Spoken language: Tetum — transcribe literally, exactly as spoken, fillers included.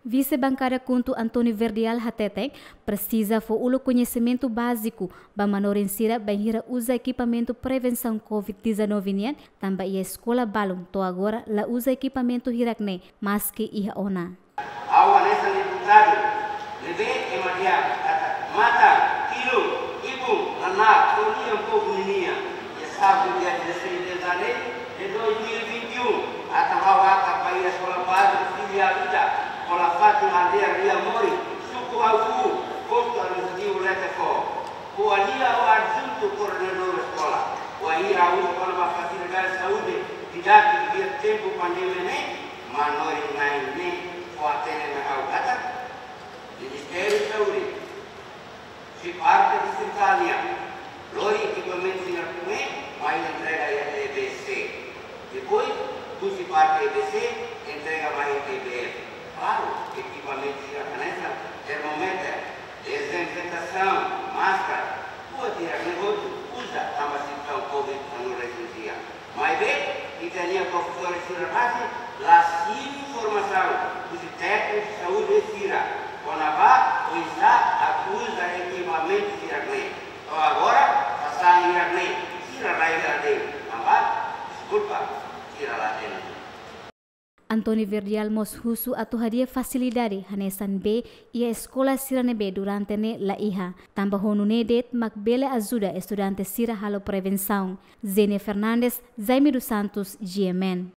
Vise Bankada KHUNTO António Verdial hateten, presiza fó uluk koñesimentu báziku ba manorin sira bainhira uza ekipamentu prevensaun COVID dezanove nian, tanba iha eskola balun to'o agora la uza ekipamentu hirak-ne'e, maski iha ona. Ha'u hanesan deputadu ne'ebé ema dehan katak matan, ilun, ibun, naná, to'o lian povu ninian. Iha sábadu dia dezasseis de janeiro de dois mil e vinte e um, atan ha'u hakat ba iha eskola báziku filiál ida, Eskola Fátima, aldeia Riamori, suku Aufú, postu administrativu Letefó. Ko'alia ho adjuntu koordenadór eskola, wainhira ha'u husu kona-ba fasilidade saúde didátiku iha tempu pandemia ne'e, manorin-na'in ne'e fó-hatene mai ha'u katak Ministériu Saúde, husi parte distritál nian, lori ekipamentu sira ne'e mai entrega iha E B C. Depois, husi parte E B C, entrega mai iha E B F. Klaru, ekipamentu sira hanesan termómetru, dezinfetasaun, máskara, buat hirak-ne'e hotu uza tanba situasaun COVID dezanove resin iha. Maibé, ita-nia profesór sira rasik la simu informasaun husi tékniku saúde sira kona-ba oinsá atu uza ekipamentu hirak-ne'e. To'o agora, sasán hirak-ne'e sira la iha de'it, tanba, deskulpa, sira la hatene. António Verdial mós husu atu hadi'a fasilidade hanesan bee iha eskola sira ne'ebé durante ne'e la iha, tanba ho nune'e de'it mak bele ajuda estudante sira halo prevensaun. Zenia Fernandes, Jaime dos Santos, G M N.